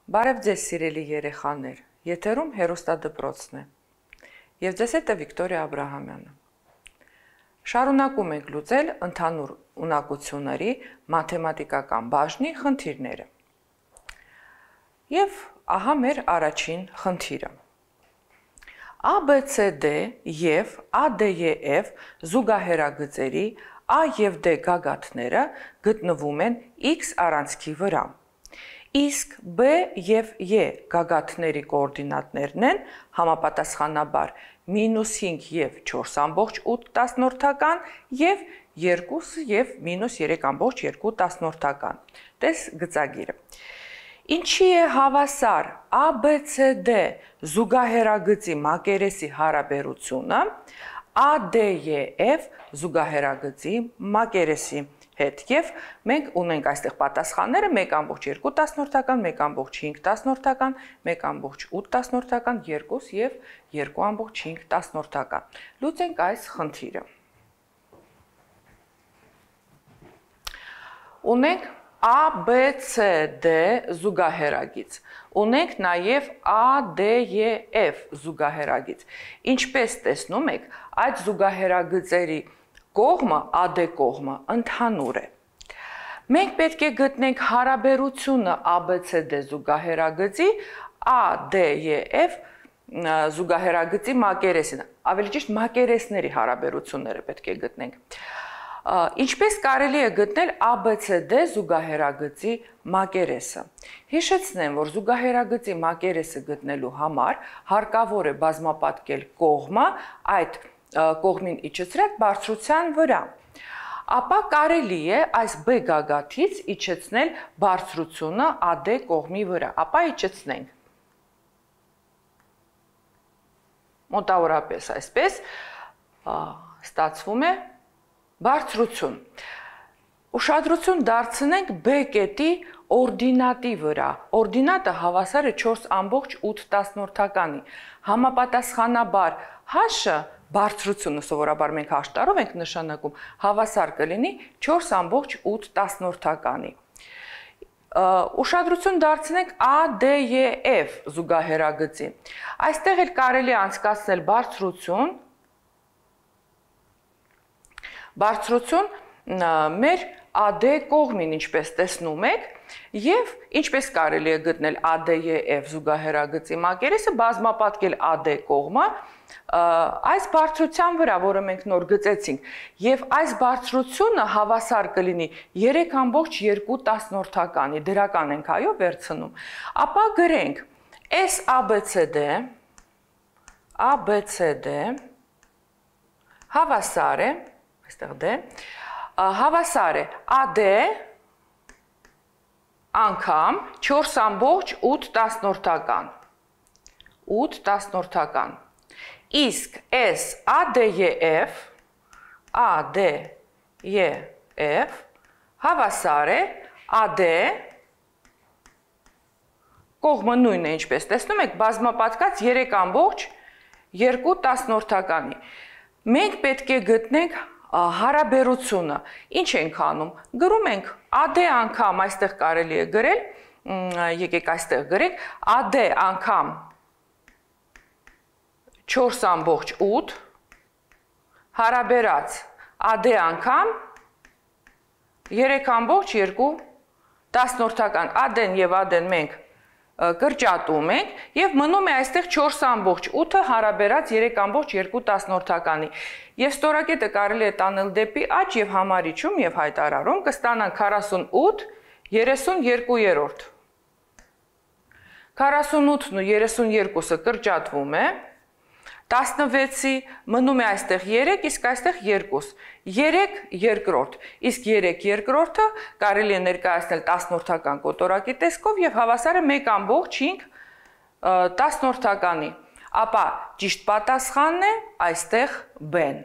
Բարև ձեզ սիրելի երեխաներ, եթերում հեռուստադպրոցն է, և ձեզ հետ է Վիկտորիա Աբրահամյանը։ Շարունակում ենք լուծել ընդհանուր ունակությունների մաթեմատիկական բաժնի խնդիրները։ Եվ ահա մեր առաջին խնդիրը։ ABCD և ADEF զուգահեռագծերի A և D գագաթները գտնվում են X առանցքի վրա։ Իսկ B և E գագաթների կոորդինատներն են համապատասխանաբար -5 և 4,8 և 2 և -3,2։ Տես գծագիրը։ Ինչի է հավասար ABCD զուգահեռագծի մակերեսի հարաբերությունը ADEF զուգահեռագծի մակերեսի հետ, և մենք ունենք այստեղ պատասխանները 1,2, 1,5, 1,8, 2 և 2,5։ Լուծենք այս խնդիրը։ Ունենք ABCD զուգահեռագիծ, ունենք նաև ADEF զուգահեռագիծ։ Ինչպես տեսնում եք, այդ զուգահեռագծերի կողմը, AD կողմը ընդհանուր է։ Մենք պետք է գտնենք հարաբերությունը ABCD զուգահեռագծի ADEF զուգահեռագծի մակերեսին, ավելի ճիշտ մակերեսների հարաբերությունները պետք է գտնենք։ Ինչպես կարելի է գտնել ABCD զուգահեռագծի մակերեսը։ Հիշեցնեմ, որ զուգահեռագծի մակերեսը գտնելու համար հարկավոր է բազմապատկել կողմը այդ կողմին իջեցրած բարձրության վրա։ Ապա կարելի է այս B գագաթից իջեցնել բարձրությունը AD կողմի վրա։ Ապա իջեցնենք։ Մոտավորապես այսպես ստացվում է բարձրություն։ Ուշադրություն դարձնենք B կետի օրդինատի վրա։ Օրդինատը հավասար է 4,8-ի։ Համապատասխանաբար H-ը բարձրությունը, սովորաբար մենք H տառով ենք նշանակում, հավասար կլինի 4,8-ի։ Ուշադրություն դարձնենք ADEF զուգահեռագծի։ Այստեղ էլ կարելի է անցկացնել բարձրություն մեր AD կողմին, ինչպես տեսնում եք, և ինչպես կարելի է գտնել ADEF զուգահեռագծի մակերեսը, բազմապատկել AD կողմը այս բարձրության վրա, որը մենք նոր գծեցինք, և այս բարձրությունը հավասար կլինի 3,2, դրական ենք այո վերցնում, ապա գրենք ABCD հավասար է, այստեղ D, հավասար է AD անգամ 4,8, 8, իսկ S ADEF հավասար է AD կողմը նույնն է, ինչպես տեսնում եք, բազմապատկած 3,2։ Մենք պետք է գտնենք հարաբերությունը։ Ինչ ենք անում։ Գրում ենք AD անգամ, այստեղ կարելի է գրել, եկեք այստեղ գրենք, AD անգամ 4,8 հարաբերած AD անգամ 3,2։ AD-ն և AD-ն մենք կրճատում ենք և մնում է այստեղ 4,8-ը հարաբերած 3,2։ Եվ ստորակետը կարելի է տանել դեպի աջ և համարիչում և հայտարարում կստանանք 48 32-րդ։ 48-ն ու 32-ը կրճատվում է, 16-ի մնում է այստեղ 3, իսկ այստեղ 2, 3 երկրորդ, իսկ 3 երկրորդը կարելի է ներկայացնել 10-որդական կոտորակի տեսքով և հավասար է 1,5 ապա ճիշտ պատասխանն է այստեղ B-ն։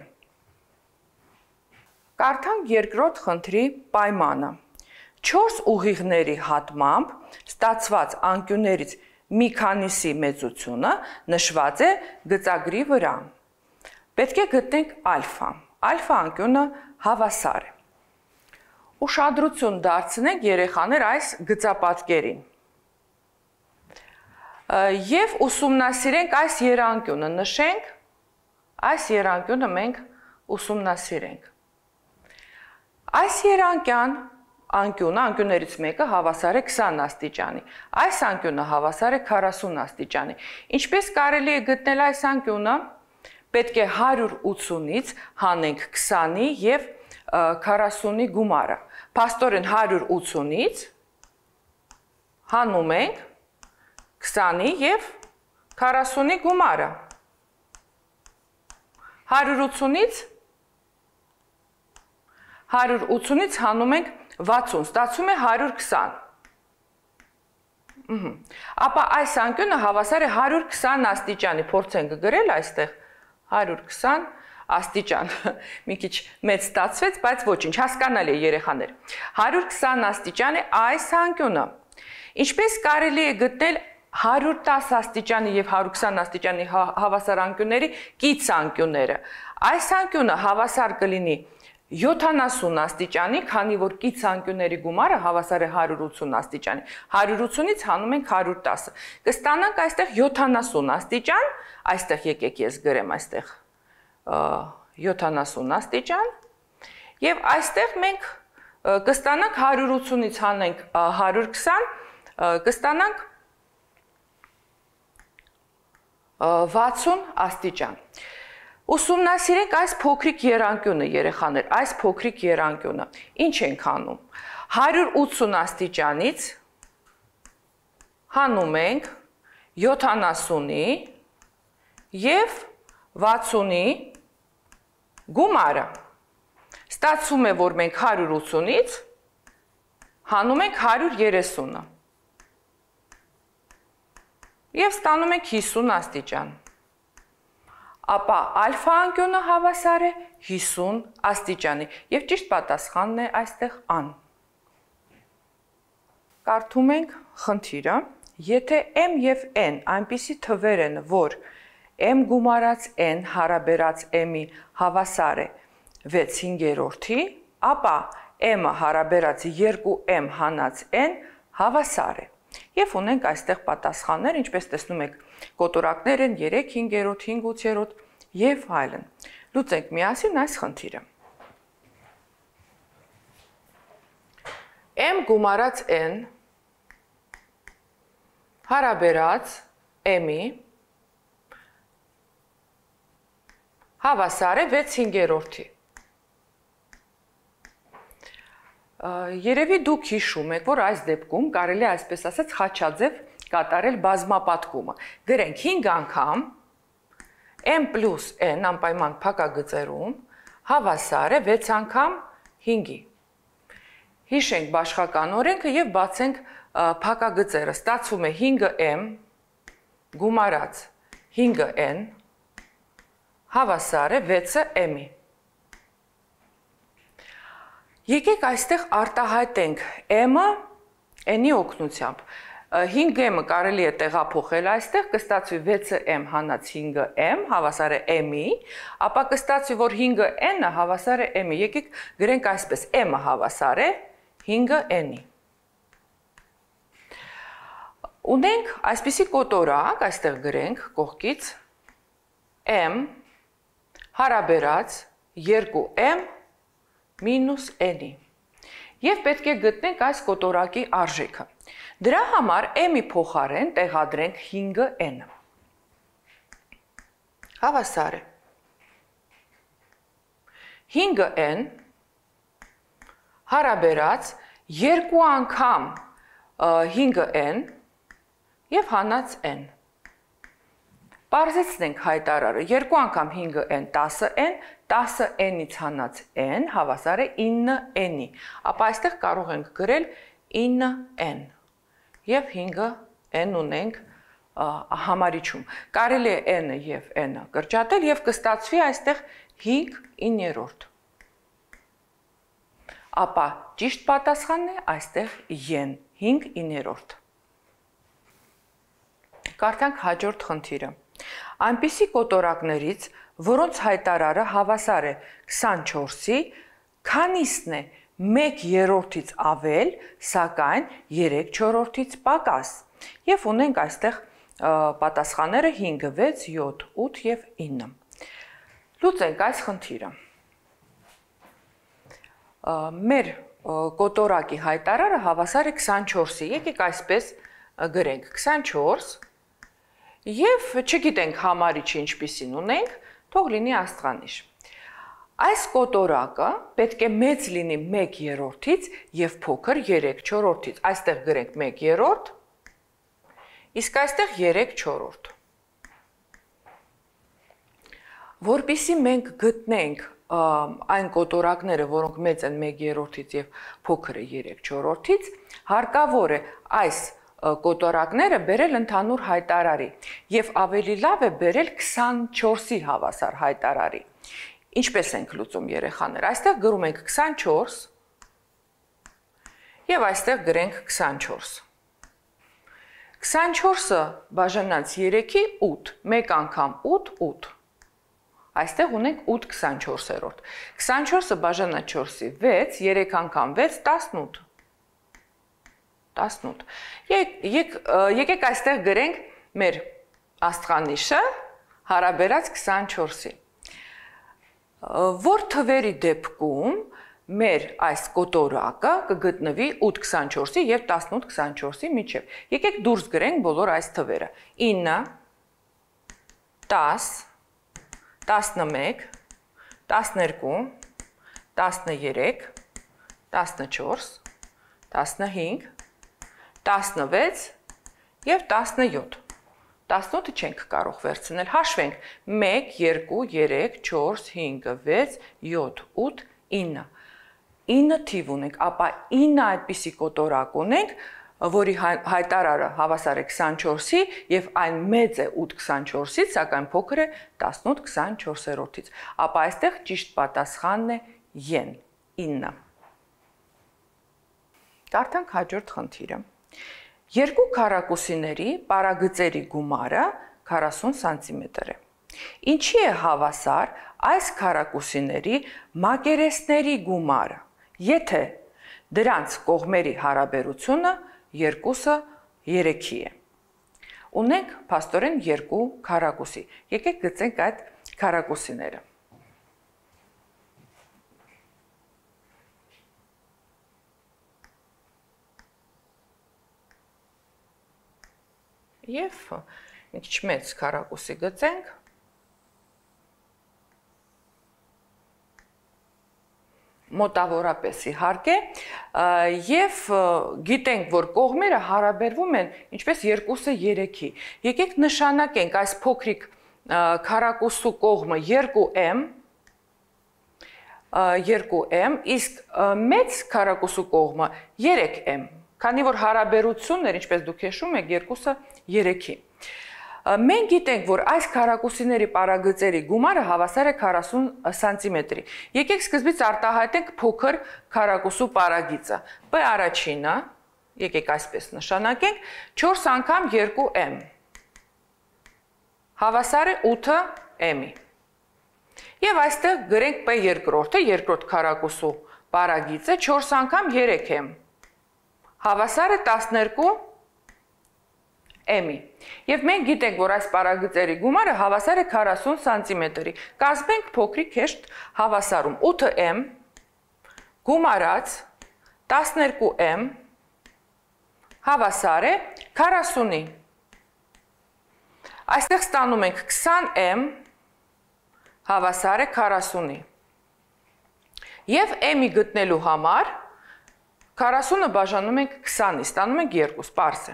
Կարդանք երկրորդ խնդրի պայմանը։ 4 ուղիղների հատմամբ ստացված անկյուններից մի քանիսի մեծությունը նշված է գծագրի վրա։ Պետք է գտնենք ալֆա։ Ալֆա անկյունը հավասար է։ Ուշադրություն դարձնենք երեխաներ այս գծապատկերին։ Եվ ուսումնասիրենք այս երանգյունը, նշենք, այս երանգյունը մենք ուսումնասիրենք։ Այս երանգյան անկյունը, անկյուններից մեկը հավասար է 20 աստիճանի, այս անկյունը հավասար է 40 աստիճանի։ Ինչպես կարելի է գտնել այս անկյունը, պետք է 180-ից հանենք 20-ի և 40-ի գումարը։ Փաստորեն 180-ից հանում ենք 20-ի և 40-ի գումարը։ 180-ից հանում ենք 60, ստացվում է 120։ Ապա այս անկյունը հավասար է 120 աստիճանի, փորձենք գրել այստեղ 120 աստիճան, մի քիչ մեծ ստացվեց, բայց ոչինչ, հասկանալի է երեխաներ։ 120 աստիճան է այս անկյունը։ Ինչպես կարելի է գտնել 110 աստիճանի և 120 աստիճանի հավասար անկյունների կից անկյունները։ Այս անկյունը հավասար կլինի 70 աստիճանի, քանի որ կից անկյունների գումարը հավասար է 180 աստիճանի։ 180-ից հանում ենք 110։ Կստանանք այստեղ 70 աստիճան, այստեղ եկեք ես գրեմ այստեղ 70 աստիճան, և այստեղ մենք կստանանք 180-ից հանենք 120, կստանանք 60 աստիճան։ Ուսումնասիրենք այս փոքրիկ երանգյունը, երեխաներ, այս փոքրիկ երանգյունը։ Ինչ ենք անում։ 180 աստիճանից հանում ենք 70-ի և 60-ի գումարը։ Ստացվում է, որ մենք 180-ից հանում ենք 130-ը և ստանում ենք 50 աստիճան։ Ապա ալֆա անկյունը հավասար է 50 աստիճանի և ճիշտ պատասխանն է այստեղ ան։ Կարդում ենք խնդիրը, եթե m և n այնպիսի թվեր են, որ m գումարած n հարաբերած m-ի հավասար է 6/5, ապա m-ը հարաբերած 2m հանած n հավասար է։ Եվ ունենք այստեղ պատասխաններ, ինչպես տեսնում եք, կոտորակներ են 3/5, 5/8 և այլն։ Լուծենք միասին այս խնդիրը։ M գումարած n հարաբերած m-ի հավասար է 6/5-ի։ Երևի դուք հիշում եք, որ այս դեպքում կարելի է այսպես ասած խաչաձև կատարել բազմապատկումը։ Գրենք 5 անգամ m պլյուս n անպայման փակագծերում հավասար է 6 անգամ 5-ի։ Հիշենք բաշխական օրենքը և բացենք փակագծերը։ Ստացվում է 5m գումարած 5n հավասար է 6m-ի։ Եկեք այստեղ արտահայտենք m-ը n-ի օգնությամբ։ 5m-ը կարելի է տեղափոխել այստեղ, կստացվի 6m հանած 5m հավասար է m-ի, ապա կստացվի, որ 5n-ը հավասար է m-ի։ Եկեք գրենք այսպես, m-ը հավասար է 5n-ի։ Ունենք այսպիսի կոտորակ, այստեղ գրենք կողքից m հարաբերած 2m մինուս n-ի։ Եվ պետք է գտնենք այս կոտորակի արժեքը։ Դրա համար m-ի փոխարեն տեղադրենք 5n-ը։ Հավասար է 5n հարաբերած 2 անգամ 5n և հանած n։ Պարզեցնենք հայտարարը, 2 անգամ 5n 10n, 10n-ից հանած n հավասար է 9n-ի, ապա այստեղ կարող ենք գրել 9n և 5n ունենք համարիչում։ Կարելի է n-ը և n-ը կրճատել և կստացվի այստեղ 5/9։ Ապա ճիշտ պատասխանն է այստեղ են, 5/9։ Կարդանք հաջորդ խնդիրը։ Այնպիսի կոտորակներից, որոնց հայտարարը հավասար է 24-ի, քանիսն է 1/3-ից ավել, սակայն 3/4-ից պակաս։ Եվ ունենք այստեղ պատասխանները 5, 6, 7, 8 եւ 9։ Լուծենք այս խնդիրը։ Մեր կոտորակի հայտարարը հավասար է 24-ի։ Եկեք այսպես գրենք 24 եւ չգիտենք համարիչը ինչպիսին ունենք, թող լինի աստղանիշ։ Այս կոտորակը պետք է մեծ լինի 1/3-ից եւ փոքր 3/4-ից։ Այստեղ գրենք 1/3, իսկ այստեղ 3/4։ Որպեսզի մենք գտնենք այն կոտորակները, որոնք մեծ են 1/3-ից եւ փոքրը 3/4-ից, հարկավոր է այս կոտորակները բերել ընդհանուր հայտարարի եւ ավելի լավ է բերել 24-ի հավասար հայտարարի։ Ինչպես ենք լուծում երեխաներ, այստեղ գրում ենք 24 եւ այստեղ գրենք 24։ 24-ը բաժանած 3-ի 8, մեկ անգամ 8, 8։ Այստեղ ունենք 8 24-րդ։ 24-ը բաժանած 4-ի 6, 3 անգամ 6, 18։ 18։ Եկեք այստեղ գրենք մեր աստղանիշը հարաբերած 24-ի։ Որ թվերի դեպքում մեր այս կոտորակը կգտնվի 8 24-ի եւ 18 24-ի միջև։ Եկեք դուրս գրենք բոլոր այս թվերը։ 9, 10, 11, 12, 13, 14, 15, 16 եւ 17։ 18-ը չենք կարող վերցնել։ Հաշվենք 1, 2, 3, 4, 5, 6, 7, 8, 9։ 9 թիվ ունենք, ապա 9 այդպիսի կոտորակ ունենք, որի հայտարարը հավասար է 24-ի եւ այն մեծ է 8 24-ից, սակայն փոքր է 18 24-ից։ Ապա այստեղ ճիշտ պատասխանն է Y-ն, 9։ Կարդանք հաջորդ խնդիրը։ Երկու քառակուսիների պարագծերի գումարը 40 սանտիմետր է։ Ինչի է հավասար այս քառակուսիների մակերեսների գումարը, եթե դրանց կողմերի հարաբերությունը 2-ը 3-ի է։ Ունենք փաստորեն երկու քառակուսի։ Եկեք գծենք այդ քառակուսիները։ Եվ մի քիչ մեծ քառակուսի գծենք։ Մոտավորապես իհարկե, եւ գիտենք, որ կողմերը հարաբերվում են ինչպես 2-ը 3-ի։ Եկեք նշանակենք այս փոքրիկ քառակուսու կողմը 2m, 2m, իսկ մեծ քառակուսու կողմը 3m, քանի որ հարաբերություններ, ինչպես դուք հիշում եք, 2-ը 3-ի։ Մենք գիտենք, որ այս քառակուսիների պարագծերի գումարը հավասար է 40 սանտիմետրի։ Եկեք սկզբից արտահայտենք փոքր քառակուսու պարագիծը։ P առաջինը, եկեք այսպես նշանակենք, 4 անգամ 2m հավասար է 8m-ի։ Եվ այստեղ գրենք P երկրորդը, երկրորդ քառակուսու պարագիծը 4 անգամ 3m հավասար է 12m-ի։ Եվ մենք գիտենք, որ այս պարագծերի գումարը հավասար է 40 սանտիմետրի։ Կազմենք փոքրիկ հեշտ հավասարում 8m գումարած 12m հավասար է 40-ի։ Այստեղ ստանում ենք 20m հավասար է 40-ի։ Եվ m-ի գտնելու համար 40-ը բաժանում ենք 20-ի, ստանում ենք 2, պարզ է։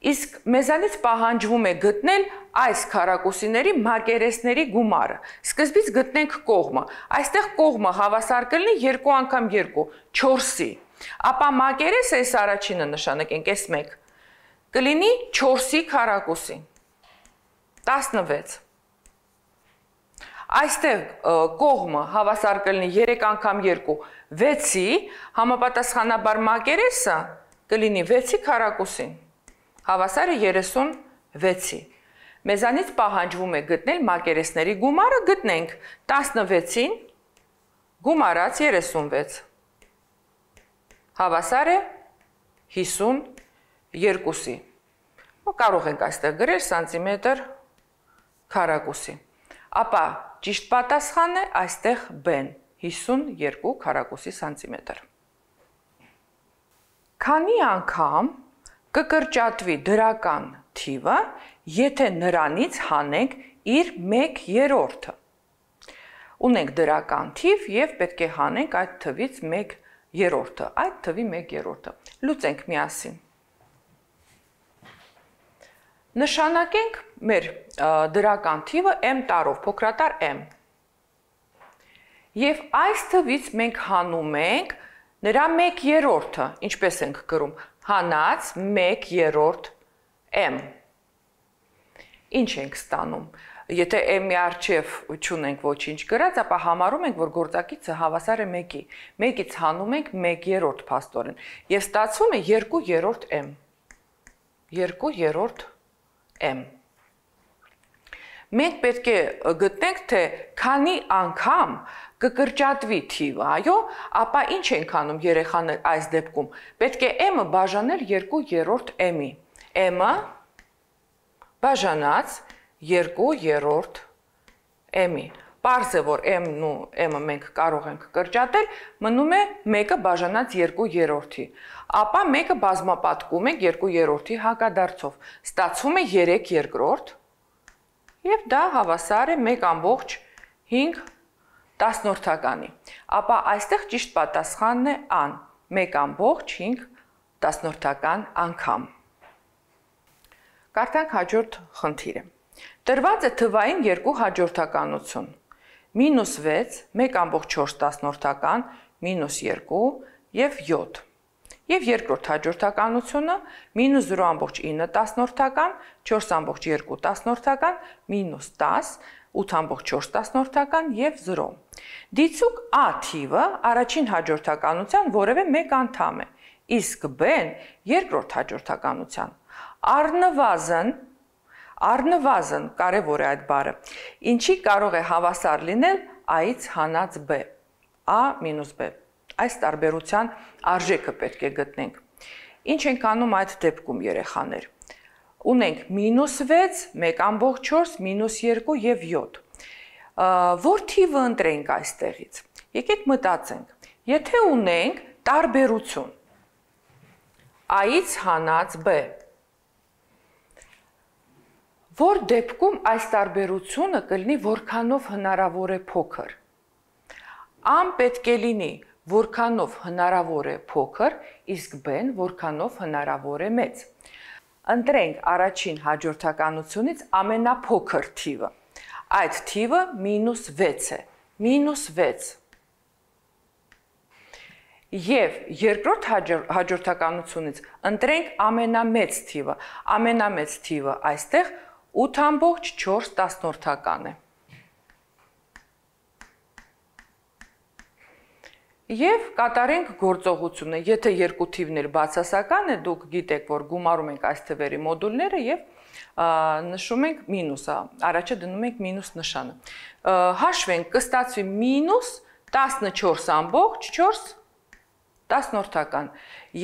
Իսկ մեզանից պահանջվում է գտնել այս քառակուսիների մակերեսների գումարը։ Սկզբից գտնենք կողմը։ Այստեղ կողմը հավասար կլինի 2 անգամ 2, 4-ի։ Ապա մակերեսը այս առաջինը նշանակենք, այս 1, կլինի 4-ի քառակուսի, 16։ Այստեղ կողմը հավասար կլինի 3 անգամ 2, 6-ի, համապատասխանաբար մակերեսը կլինի 6-ի քառակուսին, հավասար է 36-ի։ Մեզանից պահանջվում է գտնել մակերեսների գումարը, գտնենք 16-ին գումարած 36 հավասար է 52-ի։ Կարող ենք այստեղ գրել սանտիմետր քառակուսի։ Ապա ճիշտ պատասխանն է այստեղ B-ն 52 քառակուսի սանտիմետր։ Քանի անգամ կկրճատվի դրական թիվը, եթե նրանից հանենք իր 1/3-ը։ Ունենք դրական թիվ եւ պետք է հանենք այդ թվից 1/3-ը, այդ թվի 1/3-ը։ Լուծենք միասին։ Նշանակենք մեր դրական թիվը m տարով, փոքրատար m։ Եվ այս թվից մենք հանում ենք նրա 1/3-ը, ինչպես ենք գրում, հանած 1/3 m։ Ինչ ենք ստանում։ Եթե m-ի առջև չունենք ոչինչ գրած, ապա համարում ենք, որ գործակիցը հավասար է 1-ի։ 1-ից հանում ենք 1/3 փաստորեն։ Եվ ստացվում է 2/3 m։ 2/3 m։ Մենք պետք է գտնենք, թե քանի անգամ կկրճատվի թիվը, այո, ապա ինչ ենք անում երեխաներ այս դեպքում։ Պետք է m-ը բաժանել 2/3 m-ի։ m-ը բաժանած 2/3 m-ի։ Պարզ է, որ m-ն ու m-ը մենք կարող ենք կրճատել, մնում է 1-ը բաժանած 2/3-ի։ Ապա 1-ը բազմապատկում ենք 2/3-ի հակադարձով։ Ստացվում է 3/2 եւ դա հավասար է 1/5 Ապա այստեղ ճիշտ պատասխանն է ան 1/5 անգամ։ Կարդանք հաջորդ խնդիրը։ Տրված է թվային երկու հաջորդականություն՝ -6, 1/4, -2 եւ 7։ Եվ երկրորդ հաջորդականությունը -0.9, 4.2, -10, 8.4 եւ 0։ Դիցուկ A թիվը առաջին հաջորդականության որևէ մեկ անդամ է, իսկ B-ն երկրորդ հաջորդականության։ Առնվազն կարևոր է այդ բառը, ինչի կարող է հավասար լինել A-ից հանած B, A մինուս B։ Այս տարբերության արժեքը պետք է գտնենք։ Ինչ ենք անում այդ դեպքում երեխաներ։ Ունենք -6, 1/4, -2 եւ 7։ Որ թիվը ընտրենք այստեղից։ Եկեք մտածենք։ Եթե ունենք տարբերություն A-ից հանած B, որ դեպքում այս տարբերությունը կլինի որքանով հնարավոր է փոքր։ A-ն պետք է լինի որքանով հնարավոր է փոքր, իսկ B-ն որքանով հնարավոր է մեծ։ Ընտրենք առաջին հաջորդականությունից ամենափոքր թիվը։ Այդ թիվը -6 է, -6։ Եվ երկրորդ հաջորդականությունից ընտրենք ամենամեծ թիվը։ Ամենամեծ թիվը այստեղ 8.4 է։ Եվ կատարենք գործողությունը, եթե երկու թիվներ բացասական է, դուք գիտեք, որ գումարում ենք այս թվերի մոդուլները եւ նշում ենք մինուսը, առաջը դնում ենք մինուս նշանը։ Հաշվենք, կստացվի -14.4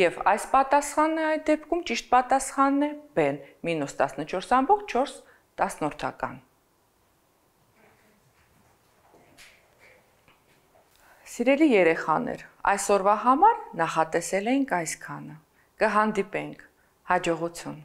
եւ այս պատասխանն է այդ դեպքում ճիշտ պատասխանն է B-ն -14.4 Սիրելի երեխաներ, այսօրվա համար նախատեսել ենք այսքանը։ Կհանդիպենք, հաջողություն։